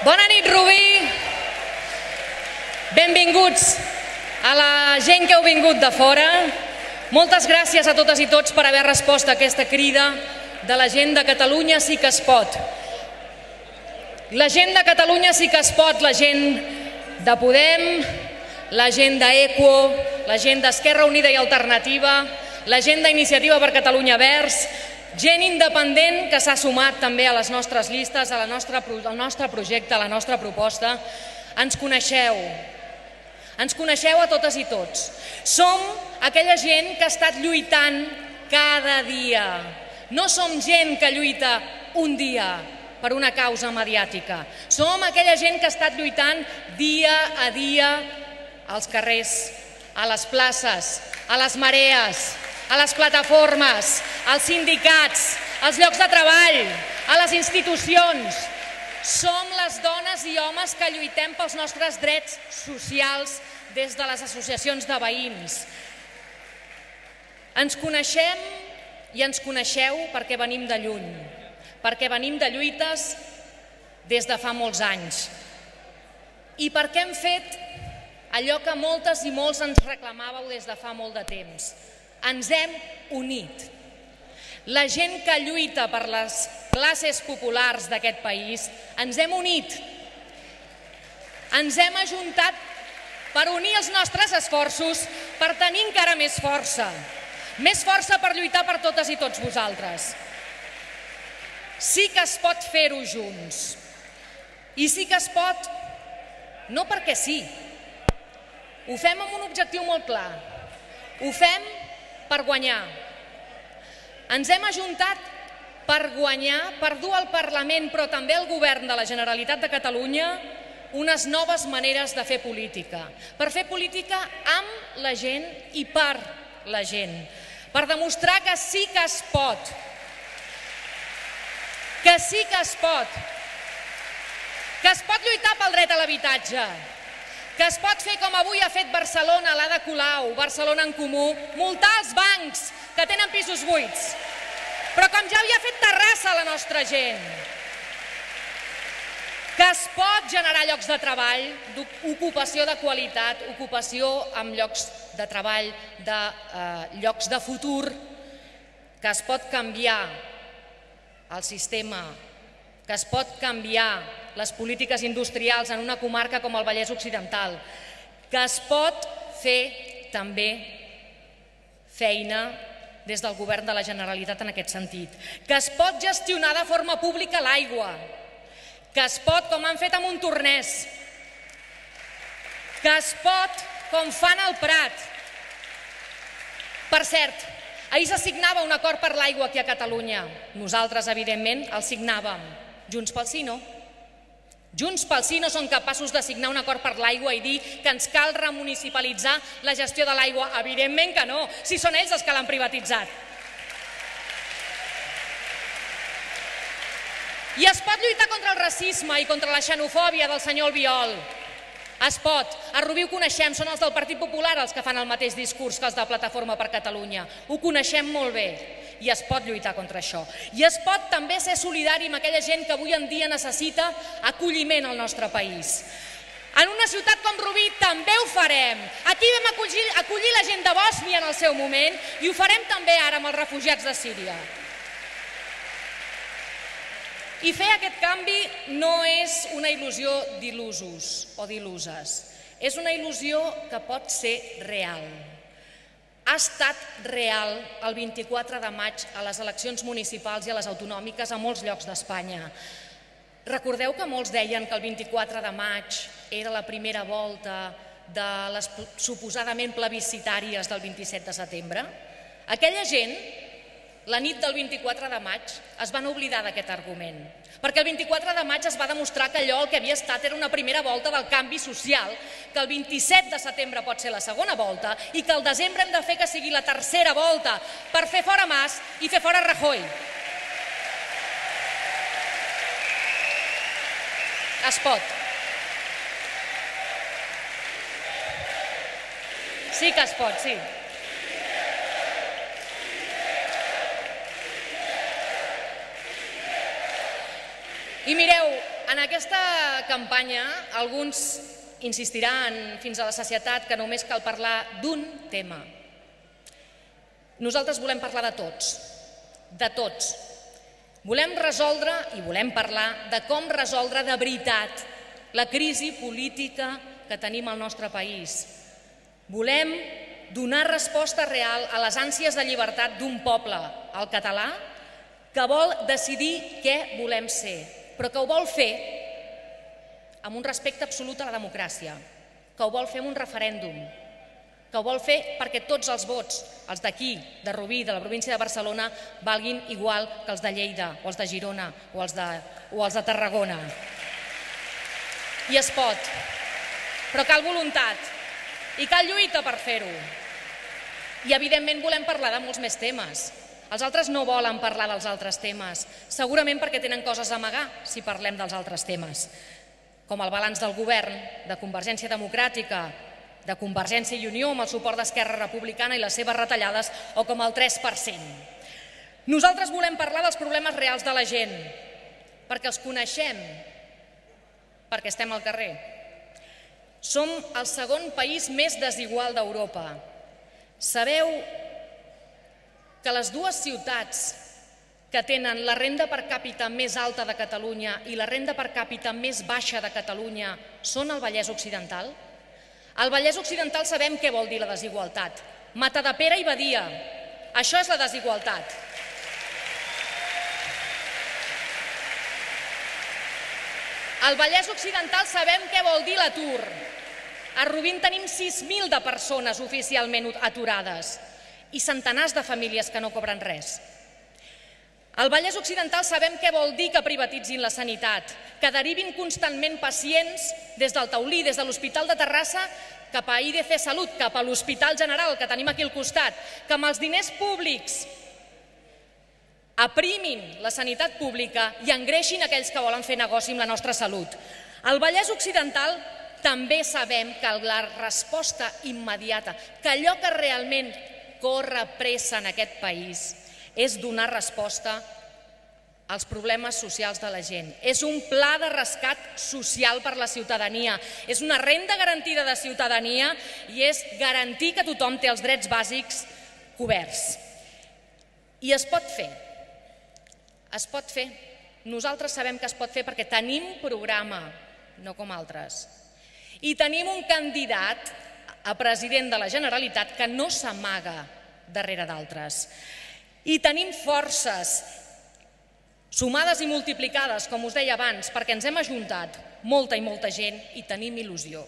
Bona nit, Rubí. Benvinguts a la gent que heu vingut de fora. Moltes gràcies a totes i tots per haver respost a aquesta crida de la gent de Catalunya sí que es pot. La gent de Catalunya sí que es pot, la gent de Podem, la gent d'Equo, la gent d'Esquerra Unida i Alternativa, la gent d'Iniciativa per Catalunya Verds, gent independent que s'ha sumat també a les nostres llistes, al nostre projecte, a la nostra proposta. Ens coneixeu a totes i tots. Som aquella gent que ha estat lluitant cada dia. No som gent que lluita un dia per una causa mediàtica. Som aquella gent que ha estat lluitant dia a dia als carrers, a les places, a les marees, a les plataformes, als sindicats, als llocs de treball, a les institucions. Som les dones i homes que lluitem pels nostres drets socials des de les associacions de veïns. Ens coneixem i ens coneixeu perquè venim de lluny, perquè venim de lluites des de fa molts anys i perquè hem fet allò que moltes i molts ens reclamàveu des de fa molt de temps. Ens hem unit. La gent que lluita per les classes populars d'aquest país, ens hem unit. Ens hem ajuntat per unir els nostres esforços, per tenir encara més força per lluitar per totes i tots vosaltres. Sí que es pot fer-ho junts. I sí que es pot, no perquè sí. Ho fem amb un objectiu molt clar. Ho fem per guanyar. Ens hem ajuntat per guanyar, per dur al Parlament, però també al Govern de la Generalitat de Catalunya, unes noves maneres de fer política. Per fer política amb la gent i per la gent. Per demostrar que sí que es pot. Que sí que es pot. Que es pot lluitar pel dret a l'habitatge. Que es pot fer com avui ha fet Barcelona, l'Ada Colau, Barcelona en Comú, multar els bancs que tenen pisos buits. Però com ja havia fet Terrassa la nostra gent. Que es pot generar llocs de treball, ocupació de qualitat, ocupació amb llocs de treball, llocs de futur, que es pot canviar el sistema, que es pot canviar les polítiques industrials en una comarca com el Vallès Occidental, que es pot fer també feina des del Govern de la Generalitat en aquest sentit, que es pot gestionar de forma pública l'aigua, que es pot, com han fet a Montornès, que es pot, com fan al Prat. Per cert, ahir se signava un acord per l'aigua aquí a Catalunya. Nosaltres, evidentment, el signàvem. Junts pel Sí no. Junts pel Sí no són capaços de signar un acord per l'aigua i dir que ens cal remunicipalitzar la gestió de l'aigua. Evidentment que no, si són ells els que l'han privatitzat. I es pot lluitar contra el racisme i contra la xenofòbia del senyor Albiol. Es pot. A Rubí ho coneixem, són els del Partit Popular els que fan el mateix discurs que els de Plataforma per Catalunya. Ho coneixem molt bé i es pot lluitar contra això. I es pot també ser solidari amb aquella gent que avui en dia necessita acolliment al nostre país. En una ciutat com Rubí també ho farem. Aquí vam acollir la gent de Bòsnia en el seu moment i ho farem també ara amb els refugiats de Síria. I fer aquest canvi no és una il·lusió d'il·lusos o d'il·luses. És una il·lusió que pot ser real. Ha estat real el 24 de maig a les eleccions municipals i a les autonòmiques a molts llocs d'Espanya. Recordeu que molts deien que el 24 de maig era la primera volta de les suposadament plebiscitàries del 27 de setembre? Aquella gent, la nit del 24 de maig, es van oblidar d'aquest argument, perquè el 24 de maig es va demostrar que allò el que havia estat era una primera volta del canvi social, que el 27 de setembre pot ser la segona volta i que al desembre hem de fer que sigui la tercera volta per fer fora Mas i fer fora Rajoy. Es pot. Sí que es pot, sí. I mireu, en aquesta campanya alguns insistiran fins a la sacietat que només cal parlar d'un tema. Nosaltres volem parlar de tots, de tots. Volem resoldre i volem parlar de com resoldre de veritat la crisi política que tenim al nostre país. Volem donar resposta real a les ànsies de llibertat d'un poble, el català, que vol decidir què volem ser, però que ho vol fer amb un respecte absolut a la democràcia, que ho vol fer amb un referèndum, que ho vol fer perquè tots els vots, els d'aquí, de Rubí, de la província de Barcelona, valguin igual que els de Lleida, o els de Girona, o els de Tarragona. I es pot, però cal voluntat i cal lluita per fer-ho. I evidentment volem parlar de molts més temes. Els altres no volen parlar dels altres temes, segurament perquè tenen coses a amagar si parlem dels altres temes, com el balanç del govern de Convergència Democràtica, de Convergència i Unió amb el suport d'Esquerra Republicana i les seves retallades, o com el 3%. Nosaltres volem parlar dels problemes reals de la gent, perquè els coneixem, perquè estem al carrer. Som el segon país més desigual d'Europa. Sabeu que les dues ciutats que tenen la renda per càpita més alta de Catalunya i la renda per càpita més baixa de Catalunya són el Vallès Occidental? Al Vallès Occidental sabem què vol dir la desigualtat. Matadepera i Badia. Això és la desigualtat. Al Vallès Occidental sabem què vol dir l'atur. A Rubí tenim 6.000 de persones oficialment aturades i centenars de famílies que no cobren res. Al Vallès Occidental sabem què vol dir que privatitzin la sanitat, que derivin constantment pacients des del Taulí, des de l'Hospital de Terrassa, cap a IDC Salut, cap a l'Hospital General que tenim aquí al costat, que amb els diners públics aprimin la sanitat pública i engreixin aquells que volen fer negoci amb la nostra salut. Al Vallès Occidental també sabem que la resposta immediata, que allò que realment corre pressa en aquest país, és donar resposta als problemes socials de la gent. És un pla de rescat social per la ciutadania, és una renda garantida de ciutadania i és garantir que tothom té els drets bàsics coberts. I es pot fer. Es pot fer. Nosaltres sabem que es pot fer perquè tenim programa, no com altres. I tenim un candidat a president de la Generalitat que no s'amaga darrere d'altres. I tenim forces sumades i multiplicades, com us deia abans, perquè ens hem ajuntat molta i molta gent i tenim il·lusió.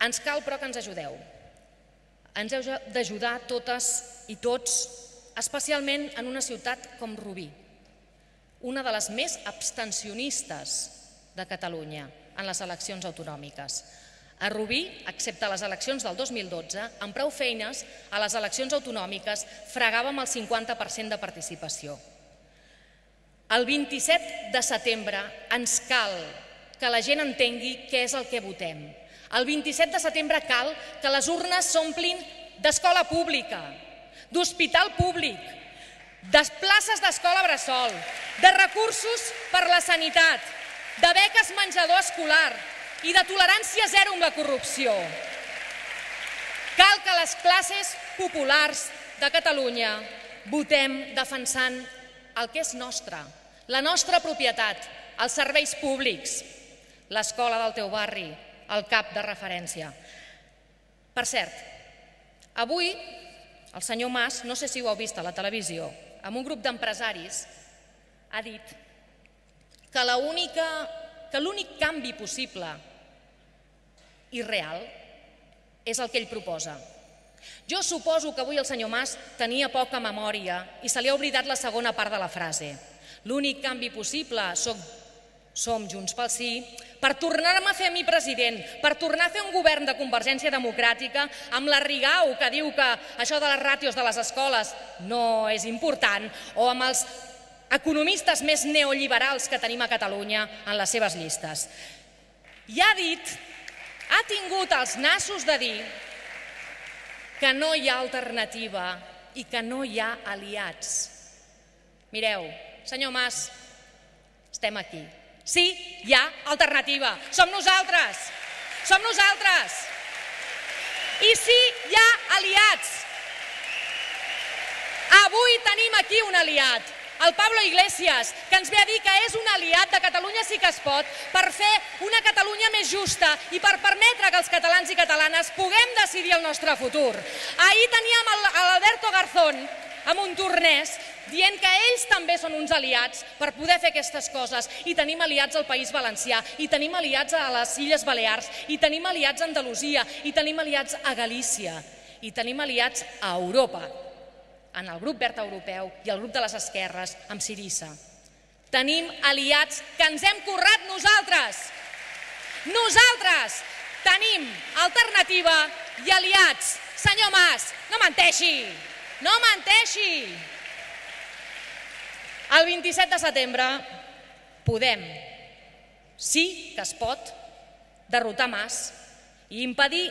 Ens cal, però, que ens ajudeu. Ens heu d'ajudar totes i tots, especialment en una ciutat com Rubí, una de les més abstencionistes de Catalunya en les eleccions autonòmiques. A Rubí, excepte les eleccions del 2012, amb prou feines, a les eleccions autonòmiques fregàvem el 50% de participació. El 27 de setembre ens cal que la gent entengui què és el que votem. El 27 de setembre cal que les urnes s'omplin d'escola pública, d'hospital públic, de places d'escola bressol, de recursos per la sanitat, de beques menjador escolar i de tolerància zero amb la corrupció. Cal que les classes populars de Catalunya votem defensant el que és nostre, la nostra propietat, els serveis públics, l'escola del teu barri, el CAP de referència. Per cert, avui el senyor Mas, no sé si ho heu vist a la televisió, amb un grup d'empresaris ha dit que l'únic canvi possible i real és el que ell proposa. Jo suposo que avui el senyor Mas tenia poca memòria i se li ha oblidat la segona part de la frase. L'únic canvi possible som Junts pel Sí per tornar-me a fer a mi president, per tornar a fer un govern de Convergència Democràtica amb la Rigau que diu que això de les ràtios de les escoles no és important, o amb els economistes més neoliberals que tenim a Catalunya en les seves llistes. I ha tingut els nassos de dir que no hi ha alternativa i que no hi ha aliats. Mireu, senyor Mas, estem aquí. Sí, hi ha alternativa. Som nosaltres. Som nosaltres. I sí, hi ha aliats. Avui tenim aquí un aliat, el Pablo Iglesias, que ens ve a dir que és un aliat de Catalunya Sí que es pot per fer una Catalunya més justa i per permetre que els catalans i catalanes puguem decidir el nostre futur. Ahir teníem l'Alberto Garzón a Montornès dient que ells també són uns aliats per poder fer aquestes coses, i tenim aliats al País Valencià, i tenim aliats a les Illes Balears, i tenim aliats a Andalusia, i tenim aliats a Galícia, i tenim aliats a Europa, en el grup verd europeu i el grup de les esquerres amb Syriza. Tenim aliats que ens hem currat nosaltres. Nosaltres tenim alternativa i aliats. Senyor Mas, no menteixi, no menteixi. El 27 de setembre podem, sí que es pot, derrotar Mas i impedir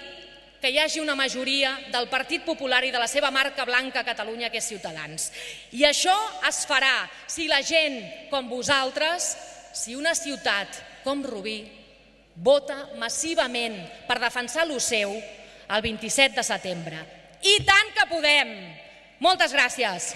que hi hagi una majoria del Partit Popular i de la seva marca blanca a Catalunya, que és Ciutadans. I això es farà si la gent com vosaltres, si una ciutat com Rubí, vota massivament per defensar lo seu el 27 de setembre. I tant que podem! Moltes gràcies.